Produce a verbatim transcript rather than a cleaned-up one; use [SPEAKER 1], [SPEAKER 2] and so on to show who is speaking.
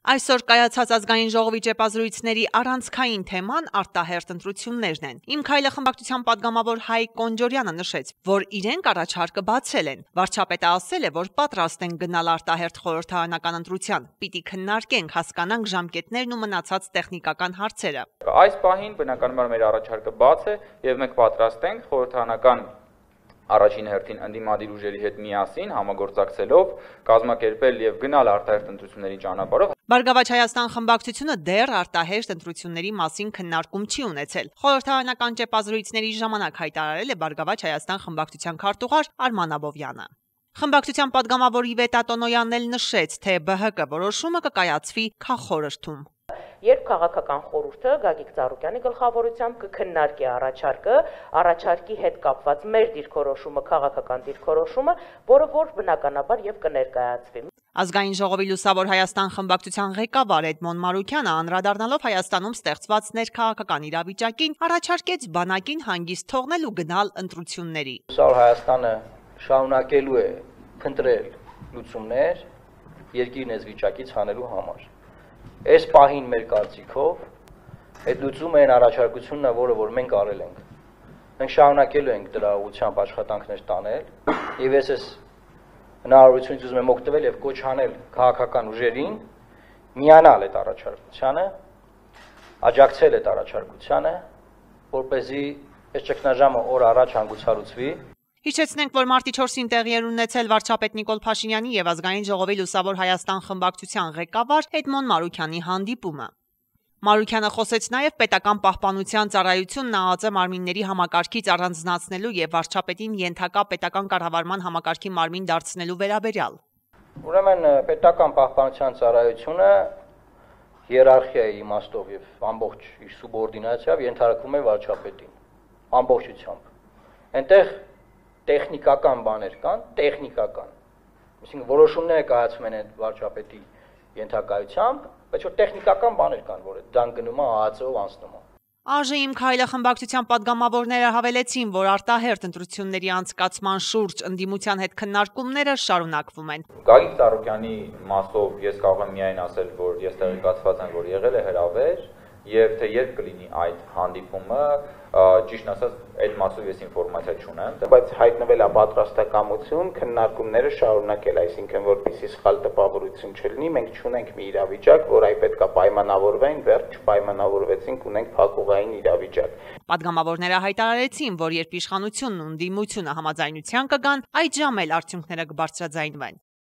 [SPEAKER 1] Այսօր կայացած ազգային ժողովի ճեպազրույցների առանցքային թեման արտահերթ ընտրություններն են։ Իմ քայլը խմբակցության պատգամավոր Հայկ Կոնջորյանը նշեց, որ իրենք առաջարկը բացել են։ Վարչապետը ասել է, որ պատրաստ են գնալ արտահերթ խորհրդարանական ընտրության։ Պիտի քննարկենք, հասկանանք ժամկետներն ու մնացած տեխնիկական հարցերը։
[SPEAKER 2] Այս պահին բնականաբար մեր առաջարկը բաց է եւ մենք պատրաստ ենք խորհրդարանական առաջին հերթին ընդդիմադիր ուժերի հետ միասին համագործակցելով կազմակերպել եւ գնալ արտահերթ ընտրությունների ճանապարհով։
[SPEAKER 1] Բարգավաճ Հայաստան խմբակցությունը դեռ արտահերթ ընտրությունների մասին քննարկում չի ունեցել։ Խորհրդարանական ճեպազրույցների ժամանակ հայտարարել է Բարգավաճ Հայաստան խմբակցության քարտուղար Արման Աբովյանը։ Խմբակցության պատգամավոր Իվետ Ատոնոյանն էլ նշեց, թե Բ Հ Կ որոշումը կկայացվի քաղխորհրդում։
[SPEAKER 3] Երբ քաղաքական խորհուրդը Գագիկ Ծառուկյանի գլխավորությամբ կքննարկի առաջարկը, առաջարկի հետ կապված մեր դիրքորոշումը, քաղաքական դիրքորոշումը, որը որ բնականաբար եւ կներկայացվի։
[SPEAKER 1] Ազգային ժողովի Լուսավոր Հայաստան խմբակցության ղեկավար Էդմոն Մարուքյանը անդրադառնալով Հայաստանում ստեղծված ներքաղաքական իրավիճակին առաջարկեց բանակին հանգիստ թողնել ու գնալ ընտրությունների։
[SPEAKER 4] Լուսավոր Հայաստանը շարունակելու է փնտրել լուծումներ երկիրն այս վիճակից հանելու համար։ Այս պահին մեր կարծիքով այդ լուծումը այն առաջարկությունն է, որը որ մենք արել ենք։ Մենք շարունակելու ենք դրա ուղղությամբ աշխատանքներ տանել եւ ես այս հնարավորությունից ուզում եմ օգտվել եւ կոչ անել քաղաքական ուժերին միանալ այդ առաջարկությանը, աջակցել այդ առաջարկությանը, որպեսզի այս ճգնաժամը օր առաջ հանգուցալուծվի։
[SPEAKER 1] Հիշեցնենք, որ մարտի չորսին տեղի էր ունեցել վարչապետ Նիկոլ Փաշինյանի եւ Ազգային ժողովի Լուսավոր Հայաստան խմբակցության ղեկավար Էդմոն Մարուքյանի հանդիպումը։ Մարուքյանը խոսեց նաեւ պետական պահպանության ծառայությունն ԱԱԾ մարմինների համակարգից առանձնացնելու եւ վարչապետին ենթակա պետական կառավարման համակարգի մարմին դարձնելու վերաբերյալ։
[SPEAKER 4] Ուրեմն պետական պահպանության ծառայությունը հիերարխիայի իմաստով եւ ամբողջ իր սուբորդինացիայով ենթարկվում է վարչապետին ամբողջությամբ։ Այնտեղ տեխնիկական բաներ կան, տեխնիկական։ Այսինքն որոշումները կայացվում են այդ վարչապետի ենթակայությամբ, բայց որ տեխնիկական բաներ կան, որ դան գնում է ԱԱԾ-ով անցնում է։
[SPEAKER 1] Աժ Իմ քայլը խմբակցության պատգամավորները հավելեցին, որ արտահերթ ընտրությունների անցկացման շուրջ ընդդիմության հետ քննարկումները շարունակվում են։
[SPEAKER 2] Գագիկ Ծառուկյանի մասով ես կարող եմ միայն ասել, որ ես տեղեկացված եմ, որ եղել է հրավեր եւ թե երբ կլինի այդ հանդիպումը, ճիշտ ասած, այդ մասով ես ինֆորմացիա չունեմ,
[SPEAKER 5] բայց հայտնվել է պատրաստակամություն քննարկումները շարունակել, այսինքն որպեսզի սխալ տպավորություն չլինի, մենք չունենք մի իրավիճակ, որ այ պետքա պայմանավորվեն, վերջ չպայմանավորվեցինք, ունենք փակուղային իրավիճակ։
[SPEAKER 1] Պատգամավորները հայտարարեցին, որ երբ իշխանությունն ու ընդդիմությունը համաձայնության կգան, այդ ժամ էլ արդյունքները կբարձրաձայնվեն։